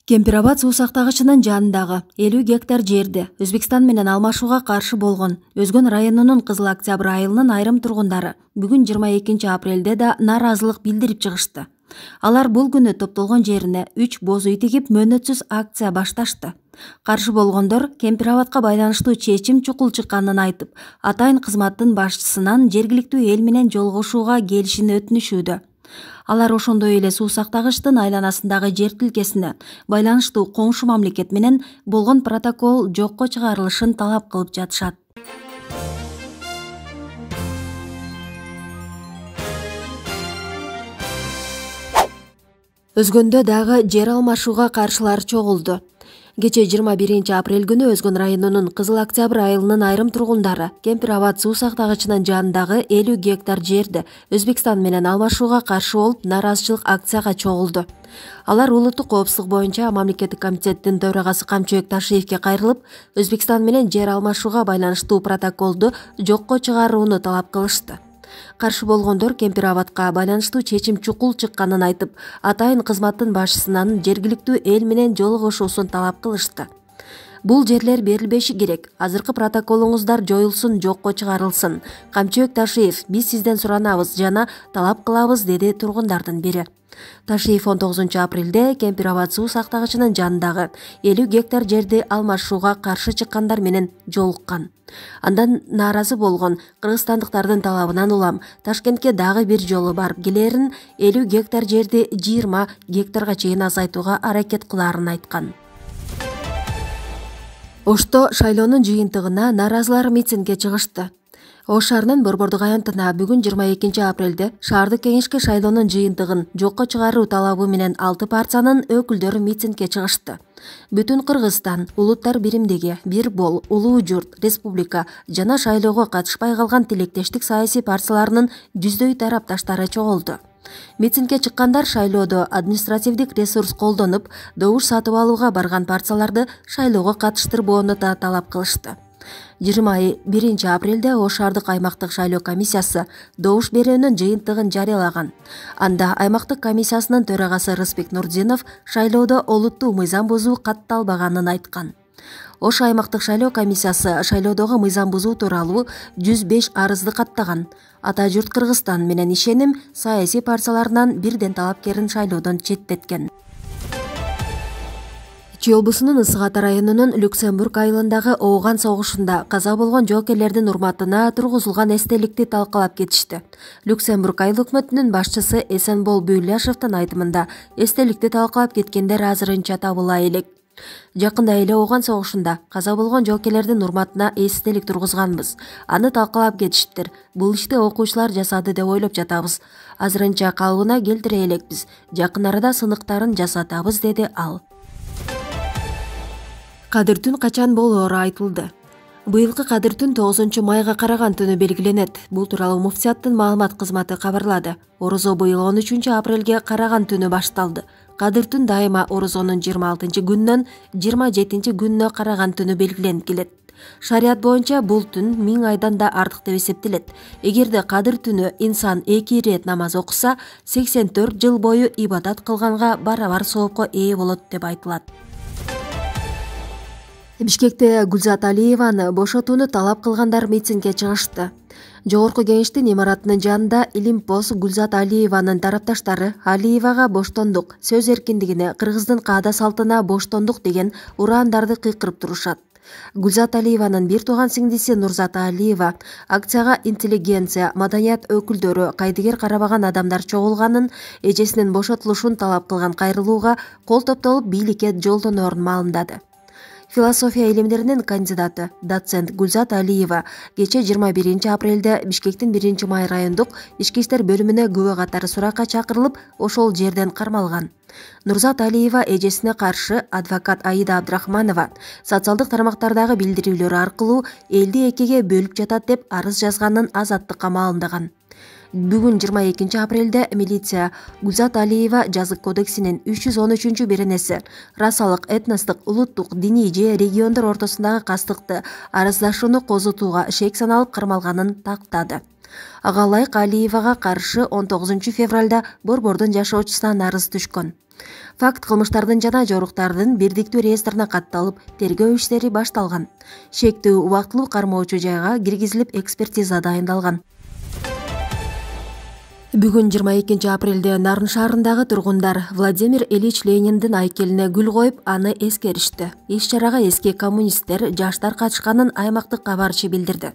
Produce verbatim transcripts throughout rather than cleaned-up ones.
Кемпирабад суу сактагычынын жанындагы элүү гектар жерди Өзбекстан менен алмашууга каршы болгон Өзгөн районунун Кызыл Октябрь айылынын айрым тургундары бүгүн жыйырма экинчи апрелде да нааразылык билдирип чыгышты. Алар бул күнү топтолгон жерине үч боз үй тигип мөөнөтсүз акция башташты. Каршы болгондор Кемпирабадка байланыштуу чечим чукул чыкканын айтып, атайын кызматтын башчысынан жергиликтүү эл менен жолугушууга келишин өтүнүшүүдө. Алар ошондой эле суу сактагычтын айланасындагы жер тилкесине байланыштуу коңшу мамлекет менен болгон протокол жокко чыгарылышын талап кылып жатышат. Өзгөндө дагы жер алмашууга каршылар чогулду. Кечээ жыйырма биринчи апрель күнү Өзгөн районунун Кызыл Октябрь айылынын айрым тургундары Кемпирабад суу сактагычынын жанындагы элүү гектар жерди Өзбекстан менен алмашууга каршы болуп нааразычылык акцияга чогулду. Алар улуттук коопсуздук боюнча мамлекеттик комитеттин төрагасы Камчыбек Ташиевке кайрылып, Өзбекстан менен жер алмашууга байланыштуу протоколду жокко чыгарууну талап кылышты. Каршы болгондор Кемпирабадка байланыштуу чечим чукул чыкканын айтып, атайын кызматтын башчысынан жергиликтүү эл менен жолугушуусун талап кылышты. Бул жерлер берилбеши керек. Азыркы протоколуңуздар жоюлсун, жокко чыгарылсын. Камчыбек Ташиев, биз сизден суранабыз жана талап кылабыз, деди тургундардын бири. Ташиев он тогузунчу апрелде Кемпирабад суу сактагычынын жанындагы элүү гектар жерди алмашууга каршы чыккандар менен жолуккан. Андан нааразы болгон кыргызстандыктардын талабынан улам Ташкентке дагы бир жолу барып келерин, элүү гектар жерди жыйырма гектарга чейин азайтууга аракет кылаарын айткан. Ошто шайлоонун жыйынтыгына нааразылар митингге чыгышты. Ош шаарынын Борбордук аянтына бүгүн жыйырма экинчи апрелде шаардык кеңешке шайлоонун жыйынтыгын жокко чыгаруу талабы менен алты партиянын өкүлдөрү митингге чыгышты. Бүтүн Кыргызстан, улуттар биримдиги, бир бол, улуу журт, республика жана шайлоого катышпай калган тилектештик саясий партияларынын жүздөй тарапташтары чогулду. Митингге чыккандар шайлоодо административдик ресурс колдонуп, добуш сатып алууга барган партияларды шайлоого катыштырбоону да талап кылышты. жыйырма биринчи апрелде Ош шаардык аймактык шайлоо комиссиясы добуш берүүнүн жыйынтыгын жарыялаган. Анда аймактык комиссиясынын төрагасы Рыспек Нурдинов шайлоодо олуттуу мыйзам бузуу катталбаганын айткан. Ош аймактык шайлоо комиссиясы шайлоодогу мыйзам бузуу тууралуу жүз беш арызды каттаган. Ата журт Кыргызстан менен ишеним саясий партияларынан бирден талапкерин шайлоодон четтеткен. Чүй облусунун Ысык Ата районунун Люксембург айылындагы Ооган согушунда каза болгон жоокерлердин урматына тургузулган эстеликти талкалап кетишти. Люксембург айыл өкмөтүнүн башчысы Эсенбол Бүйляшевдин айтымында эстеликти талкалап кеткендер азырынча табыла элек. Жакында эле Ооган согушунда каза болгон жоокерлердин урматына эстелик тургузганбыз. Аны талкалап кетиштир. Бул ишти окуучулар жасады деп ойлоп жатабыз. Азырынча калыбына келтире элекпиз. Жакын арада сыныктарын жасатабыз, деди ал. Кадыр түн качан болоору айтылды. Быйылкы Кадыр түн тогузунчу майга караган түнү белгиленет. Бул тууралуу муфтияттын маалымат кызматы кабарлады. Орозо быйыл он үчүнчү апрелге караган түнү башталды. Кадыр түн дайыма орозонун жыйырма алтынчы күнүнөн жыйырма жетинчи күнүнө караган түнү белгиленип келет. Шарият боюнча бул түн миң айдан да артык деп эсептелет. Эгерде Кадыр түнү инсан эки ирет намаз окуса, сексен төрт жыл бою ибадат кылганга барабар соопко ээ болот деп айтылат. Бишкекте Гүлзат Алиеваны бошотууну талап кылгандар митингге чыгышты. Жогорку кеңештин имаратынын жанында Илимпоз Гүлзат Алиеванын тарапташтары Алиевага боштондук, сөз эркиндигине, кыргыздын каада салтына боштондук деген ураандарды кыйкырып турушат. Гүлзат Алиеванын бир тууган сиңдиси Нурзата Алиева акцияга интеллигенция, маданият өкүлдөрү, кайдыгер карабаган адамдар чогулганын, эжесинин бошотулушун талап кылган кайрылууга кол топтолуп бийликке жолдоноорун маалымдады. Философия илимдеринин кандидаты доцент Гүлзат Алиева кечээ жыйырма биринчи апрелде Бишкектин биринчи май райондук ички иштер бөлүмүнө күбө катары суракка чакырылып, ошол жерден кармалган. Нурзат Алиева эжесине каршы адвокат Аида Абдрахманова социалдык тармактардагы билдирүүлөрү аркылуу элди экиге бөлүп жатат деп арыз жазганын Азаттыкка маалымдаган. Бүгүн жыйырма экинчи апрелде милиция Гүлзат Алиева жазык кодексинин үч жүз он үчүнчү беренеси расалык, этностук, улуттук, диний же региондор ортосундагы кастыкты арыздашууну козутууга шек саналып кармалганын тактады. Ага ылайык Алиевага каршы он тогузунчу февралда Борбордун жашоочусунан арыз түшкөн. Факт кылмыштардын жана жоруктардын бирдиктүү реестрине катталып, тергөө иштери башталган. Шектүү убактылуу кармоочу жайга киргизилип, экспертиза дайындалган. Бүгүн жыйырма экинчи апрелде Нарын шаарындагы тургундар Владимир Ильич Лениндин айкелине гүл коюп, аны эскеришти. Иш-чарага эски коммунисттер, жаштар катышканын аймактык кабарчы билдирди.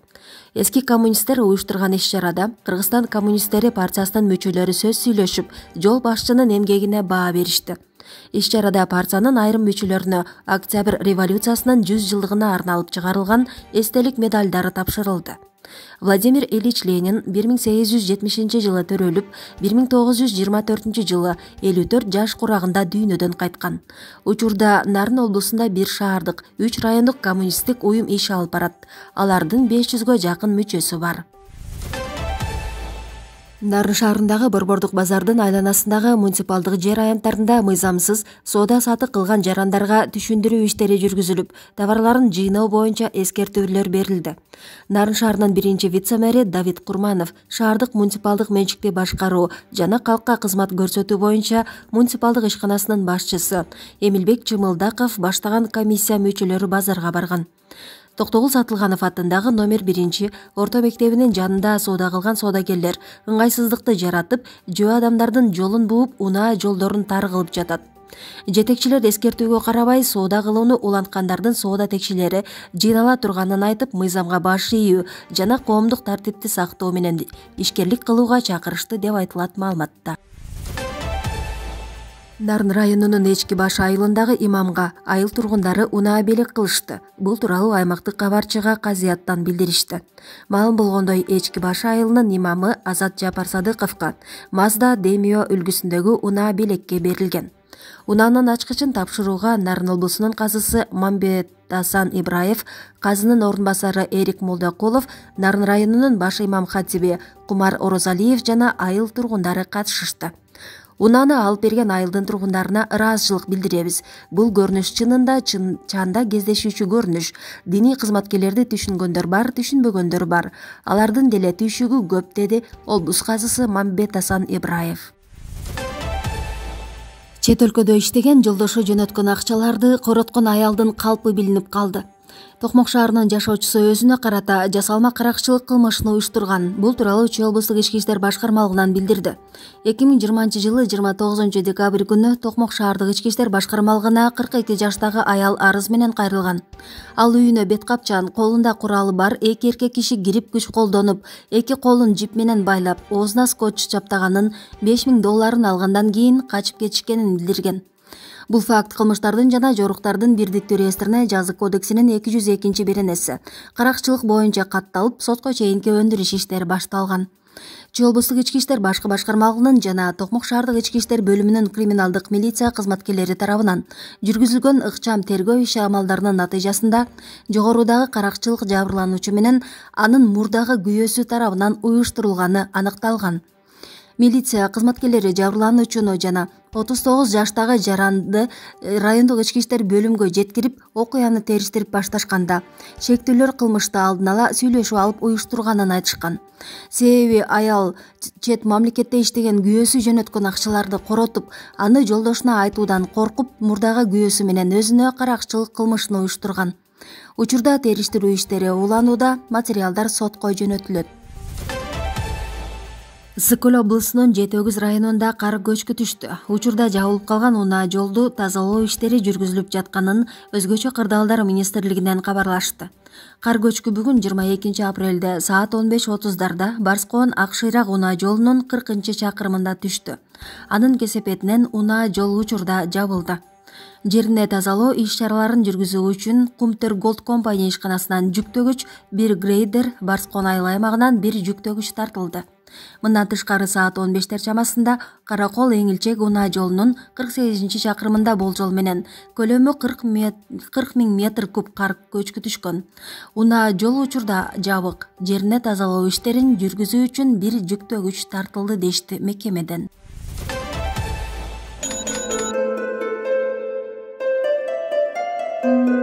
Эски коммунисттер уюштурган иш-чарада Кыргызстан коммунисттери партиясынын мүчөлөрү сөз сүйлөшүп, жол башчынын эмгегине баа беришти. Иш-чарада партиянын айрым мүчөлөрүнө Октябрь революциясынын жүз жылдыгына арналып чыгарылган эстелик медалдары тапшырылды. Владимир Ильич Ленин бир миң сегиз жүз жетимишинчи жылы төрөлүп, бир миң тогуз жүз жыйырма төртүнчү жылы элүү төрт жаш курагында дүйнөдөн кайткан. Учурда Нарын облусунда бир шаардык, үч райондук коммунисттик уюм иш алып барат. Алардын беш жүзгө жакын мүчөсү бар. Нарын шаарындагы Борбордук базардын айланасындагы муниципалдык жер аянттарында мыйзамсыз соода сатык кылган жарандарга түшүндүрүү иштери жүргүзүлүп, товарларын жыйноо боюнча эскертүүлөр берилди. Нарын шаарынын биринчи вице-мэри Давид Курманов шаардык муниципалдык менчикти башкаруу жана калкка кызмат көрсөтүү боюнча муниципалдык ишканасынын башчысы Эмилбек Чымылдаков баштаган комиссия мүчөлөрү базарга барган. Токтогул Сатылганов атындагы номер биринчи орто мектебинин жанында соода кылган соодагерлер ыңгайсыздыкты жаратып, жөө адамдардын жолун бууп, унаа жолдорун тар кылып жатат. Жетекчилер эскертүүгө карабай соода кылууну уланткандардын соода текшелери жыйнала турганын айтып, мыйзамга баш ийүү жана коомдук тартипти сактоо менен ишкерлик кылууга чакырышты деп айтылат маалыматта. Нарын районунун Эчки баш айылындагы имамга айыл тургундары унаа белек кылышты. Бул тууралуу аймактык кабарчыга Казияттан билдиришти. Маалым болгондой, Эчки баш айылынын имамы Азат Жапарсадыковго Мазда Демио үлгүсүндөгү унаа белекке берилген. Унаанын ачкычын тапшырууга Нарын облусунун казысы Мамбетасан Ибраев, казынын орун басары Эрик Молдокулов, Нарын районунун баш имам хатиби Кумар Орозалиев жана айыл тургундары катышышты. Унааны алып берген айылдын тургундарына ыраазычылык билдиребиз. Бул көрүнүш чынында чын чанда кездешүүчү көрүнүш. Диний кызматкерлерди түшүнгөндөр бар, түшүнбөгөндөр бар. Алардын деле түйшүгү көп, деди облус казысы Мамбетасан Ибраев. Чет өлкөдө иштеген жолдошу жөнөткөн акчаларды короткон аялдын калпы билинип калды. Токмок шаарынын жашоочусу өзүнө карата жасалма каракчылык кылмышын уюштурган. Бул тууралуу Чүй облустук ички иштер башкармалыгынан билдирди. эки миң жыйырманчы жылы жыйырма тогузунчу декабрь күнү Токмок шаардык ички иштер башкармалыгына кырк эки жаштагы аял арыз менен кайрылган. Ал үйүнө бет капчан, колунда куралы бар эки эркек киши кирип күч колдонуп, эки колун жип менен байлап, оозуна скотч чаптаганын, беш миң долларын алгандан кийин качып кетишкенин билдирген. Бул факт кылмыштардын жана жоруктардын бирдиктүү реестрине жазык кодексинин эки жүз экинчи беренеси каракчылык боюнча катталып, сотко чейинки өндүрүш иштери башталган. Чүй облустук ички иштер башкы башкармалыгынын жана Токмок шаардык ички иштер бөлүмүнүн криминалдык милиция кызматкерлери тарабынан жүргүзүлгөн ыкчам тергөө иши амалдарынын натыйжасында жогорудагы каракчылык жабырлануучу менен анын мурдагы күйөөсү тарабынан уюштурулганы аныкталган. Милиция кызматкерлери жабырлануучуну жана отуз тогуз жаштагы жаранды райондук ички иштер бөлүмгө жеткирип, окуяны териштирип башташканда шектүүлөр кылмышты алдын ала сүйлөшүп алып уюштурганын айтышкан. Себеби аял чет мамлекетте иштеген күйөөсү жөнөткөн акчаларды коротуп, аны жолдошуна айтуудан коркуп, мурдагы күйөөсү менен өзүнө каракчылык кылмышын уюштурган. Учурда териштирүү иштери уланууда, материалдар сотко жөнөтүлөт. Ысык Көл облусунун Жети Өгүз районунда кар көчкү түштү. Учурда жабылып калган унаа жолду тазалоо иштери жүргүзүлүп жатканын Өзгөчө кырдаалдар министрлигинен кабарлашты. Кар көчкү бүгүн жыйырма экинчи апрелде саат он беш отуздарда Барскоон Ак Шыйрак унаа жолунун кыркынчы чакырымында түштү. Анын кесепетинен унаа жол учурда жабылды. Жерине тазалоо иш-чараларын жүргүзүү үчүн Кумтөр Голд компания ишканасынан жүктөгүч, бир грейдер, Барскоон айыл аймагынан бир жүктөгүч тартылды. Мындан тышкары саат он бештер чамасында Каракол Эңилчек унаа жолунун кырк сегизинчи чакырымында болжол менен көлөмү кырк миң метр куб кар көчкү түшкөн. Унаа жол учурда жабык. Жерине тазалоо иштерин жүргүзүү үчүн бир жүктөгүч тартылды дешти мекемеден. Thank you.